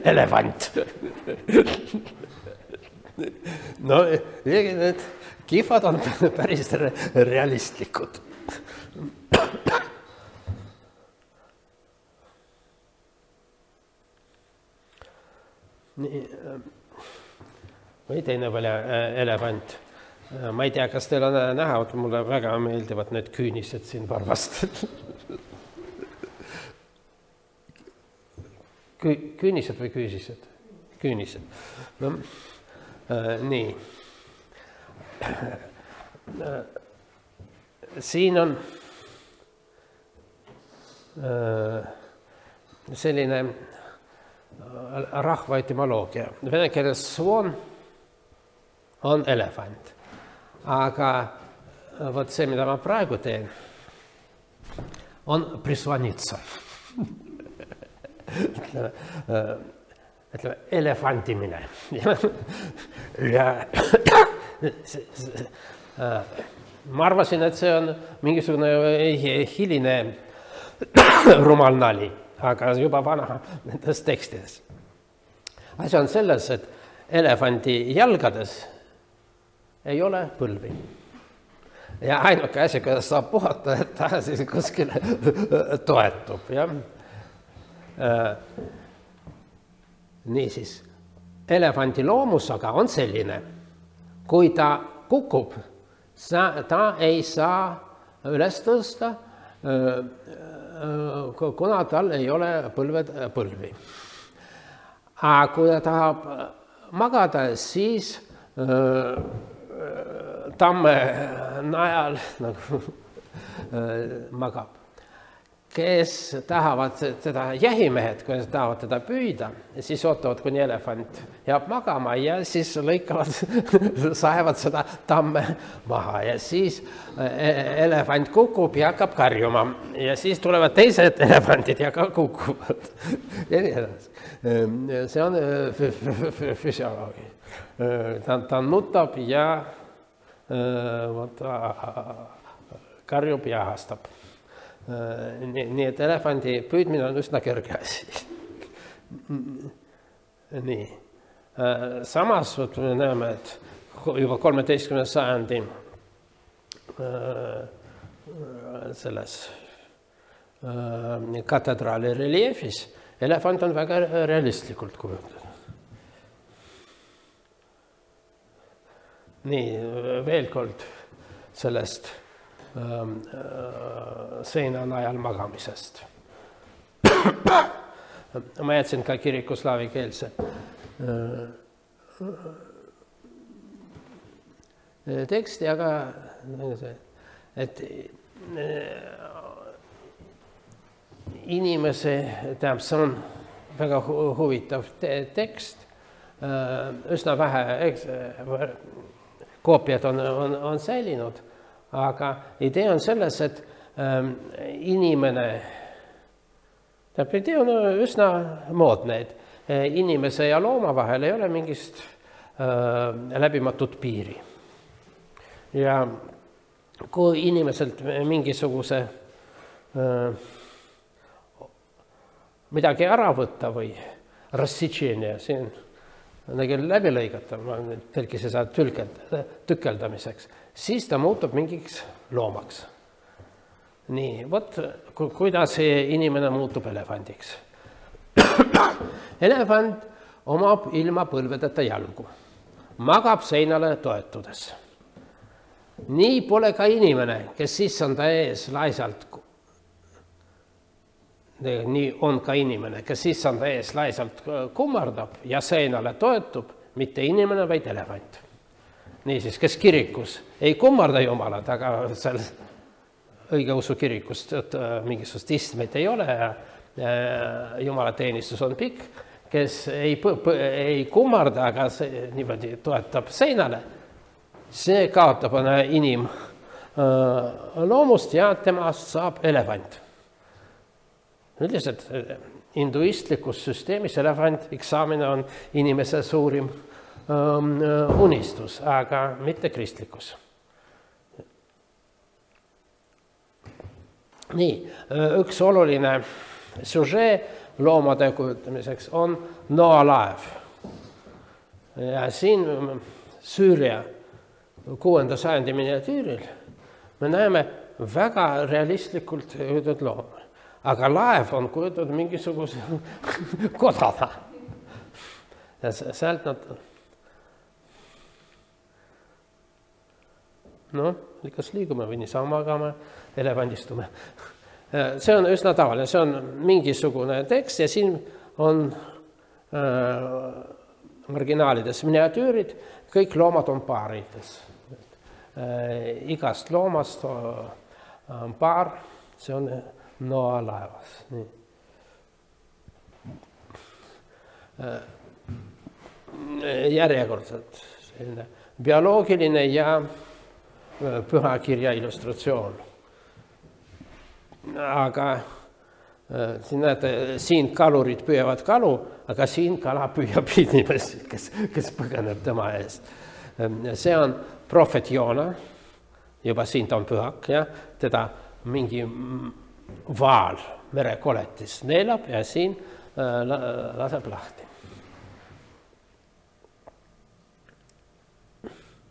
elevant. No, need kihvad on päris realistlikud. Või teine veel elevant. Ma ei tea, kas teil on näha, mulle väga meeldivad need küünised siin varvast. Küünised või küüsised? Küünised. No, nii. Siin on selline rahva etymoloogia. Vene keeles svoon on elefant. Aga võt see, mida ma praegu teen, on prisvanitsa. Ütleme, elefandimine. Ma arvasin, et see on mingisugune hiline rumal nali, aga juba vana nendes tekstides. Asi on selles, et elefandi jalgades ei ole põlvi. Ja ainuke asi, kuidas saab puhata, et ta siis kuskile toetub. Ja? Niisiis, elefandi loomus aga on selline, kui ta kukub, ta ei saa üles tõsta, kuna tal ei ole põlvi. Aga kui ta tahab magada, siis tamme najal nagu magab. kes tahavad teda, jahimehed, kui tahavad teda püüda, siis ootavad, kuni elefant jääb magama ja siis lõikavad, saevad seda tamme maha ja siis elefant kukub ja hakkab karjuma ja siis tulevad teised elefandid ja ka kukuvad. Ja nii edasi. See on füsioloogia. Ta nutab ja karjub ja ahastab. Nii et elefandi püüdmine on üsna kerge asi. Nii. Samas me näeme, et juba 13. sajandi selles katedraali reliefis elefant on väga realistlikult kujutatud. Nii, veel kord sellest seina najal magamisest. Ma jätsin ka kiriku slaavi keelse teksti, aga et inimese, see on väga huvitav tekst, üsna vähe koopiad on säilinud, aga idee on selles, et inimene, idee on üsna moodne, et inimese ja looma vahel ei ole mingist läbimatut piiri. Ja kui inimeselt mingisuguse midagi ära võtta või rassitšeenia, siin on läbi lõigata, ma tõlkis seda tükeldamiseks, siis ta muutub mingiks loomaks. Nii, vot kuidas inimene muutub elefandiks. Elefant omab ilma põlvedeta jalgu, magab seinale toetudes. Nii pole ka inimene, kes siis on ta ees laisalt, nii on ka inimene, kes siis on ta ees laisalt kummardab ja seinale toetub, mitte inimene, vaid elefant. Niisiis, kes kirikus ei kummarda Jumalat, aga seal õigeusu kirikust mingisugust istmeid ei ole ja Jumalateenistus on pikk, kes ei kummarda, aga niimoodi toetab seinale, see kaotab inimloomust ja temast saab elefant. Üldiselt hinduistlikus süsteemis elefandiks saamine on inimese suurim unistus, aga mitte kristlikus. Nii, üks oluline süžee loomade kujutamiseks on Noa laev. Ja siin Süüria 6. sajandi miniatüüril me näeme väga realistlikult kujutatud looma. Aga laev on kujutatud mingisuguse kodana. Ja sealt nad... kas liigume või niisama magame, elevandistume. See on üsna tavaline, see on mingisugune tekst ja siin on marginaalides miniatüürid, kõik loomad on paarides. Igast loomast on paar, see on Noa laevas. Nii. Järjekordselt selline bioloogiline ja pühakirja illustratsioon. Aga siin näete, siin kalurid püüavad kalu, aga siin kala püüab inimesi, kes põgeneb tema eest. See on prohvet Joona, juba siin ta on pühak, ja teda mingi vaal merekoletis neelab ja siin laseb lahti.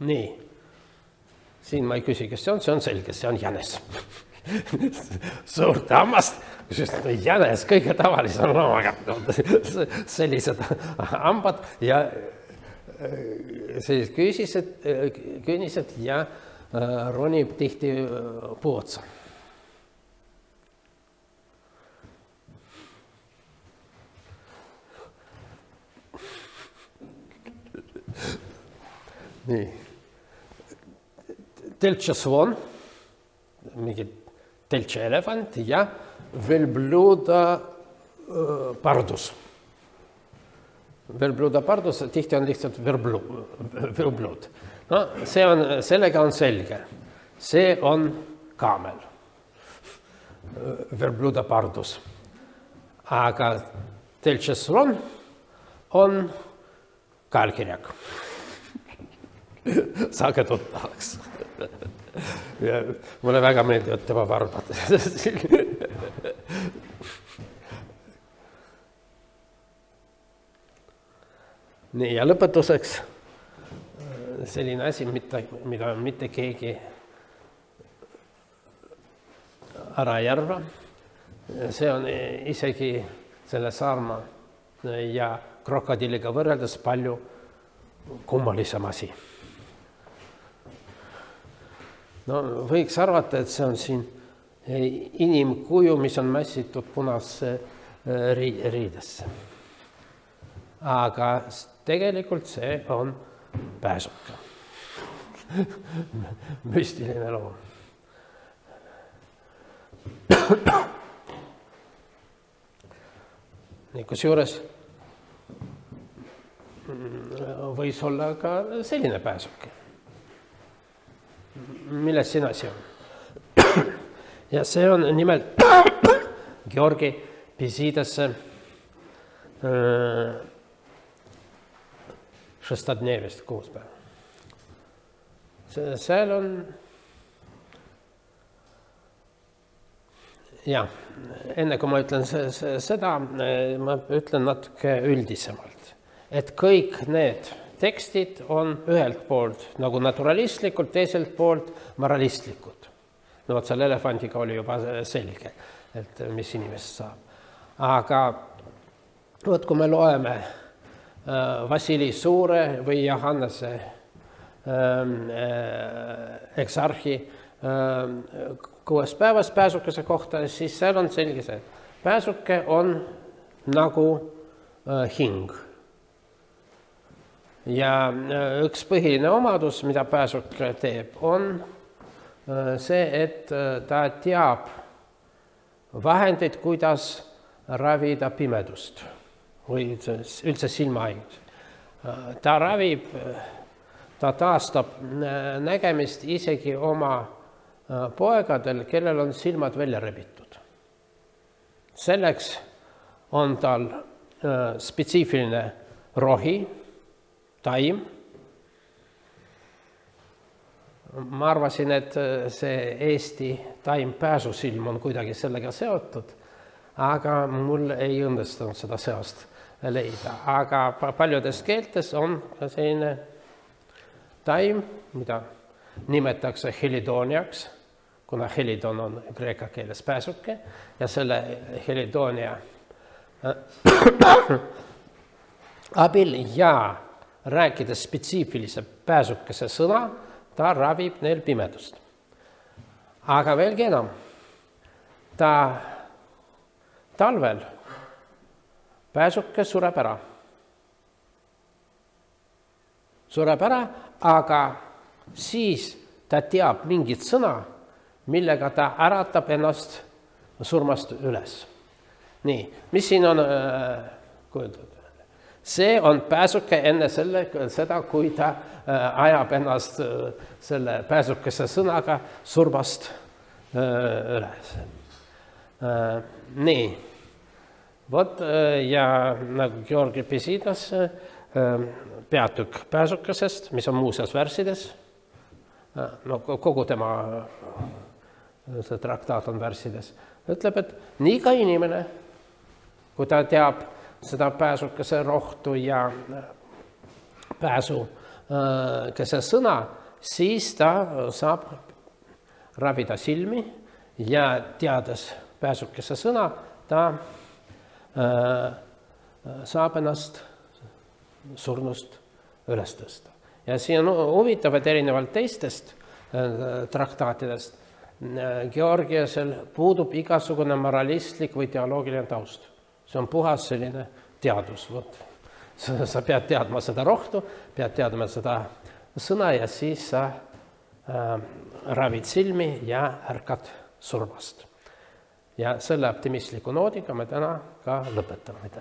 Nii. Siin ma ei küsi, kes see on selge, see on jänes. Suurt hammast, jänes kõige tavalisem loomaga. Sellised hambad ja künnised ja ronib tihti puu otsa. Nii. Teltša svon, mingi teltši elefant ja velbluda pardus. Velbluda pardus tihti on lihtsalt verblud. No, sellega on selge. See on kaamel. Verbluda pardus. Aga teltši slon on kaelkirjak. Saage tuttavaks. Mulle väga meeldivad tema varbad. Nii, ja lõpetuseks selline asi, mida mitte keegi ära ei arva. See on isegi selle saarma ja krokodilliga võrreldes palju kummalisem asi. No, võiks arvata, et see on siin inimkuju, mis on mässitud punasse riidesse. Aga tegelikult see on pääsuke. Müstiline loom. Nii, kusjuures võis olla ka selline pääsuke. Milles siin asi on? Ja see on nimelt Georgi Pisiidesse šestadnevist 6 päeva. Seal on ja enne kui ma ütlen seda, ma ütlen natuke üldisemalt, et kõik need tekstid on ühelt poolt nagu naturalistlikud, teiselt poolt moralistlikud. No vot, selle elefandiga oli juba selge, et mis inimest saab. Aga vot, kui me loeme Vassili Suure või Johannese eksarhi 6 päevas pääsukese kohta, siis seal on selge see, et pääsuke on nagu hing. Ja üks põhiline omadus, mida pääsuke teeb, on see, et ta teab vahendeid, kuidas ravida pimedust või üldse silmahaigus. Ta ravib, ta taastab nägemist isegi oma poegadel, kellel on silmad välja rebitud. Selleks on tal spetsiifiline rohi, taim. Ma arvasin, et see Eesti taim pääsusilm on kuidagi sellega seotud, aga mul ei õnnestunud seda seost leida. Aga paljudes keeltes on selline taim, mida nimetatakse helidoniaks, kuna helidon on kreeka keeles pääsuke ja selle helidonia abil ja rääkides spetsiifilise pääsukese sõna, ta ravib neil pimedust. Aga veelgi enam, ta talvel pääsuke sureb ära. Sureb ära, aga siis ta teab mingit sõna, millega ta äratab ennast surmast üles. Nii, mis siin on kujutatud? See on pääsuke enne seda, kui ta ajab ennast selle pääsukese sõnaga surmast üles. Nii, vot ja nagu Georgi Pisiidas peatükk pääsukesest, mis on muuseas värssides, no kogu tema see traktaat on värssides, ütleb, et nii ka inimene, kui ta teab seda pääsukese rohtu ja pääsukese sõna, siis ta saab ravida silmi ja teades pääsukese sõna, ta saab ennast surnust üles tõsta. Ja siin on huvitav, et erinevalt teistest traktaatidest Georgiasel puudub igasugune moralistlik või teoloogiline taust. See on puhas selline teadus. Sa pead teadma seda rohtu, pead teadma seda sõna ja siis sa ravid silmi ja ärkad surmast. Ja selle optimistliku noodiga me täna ka lõpetame.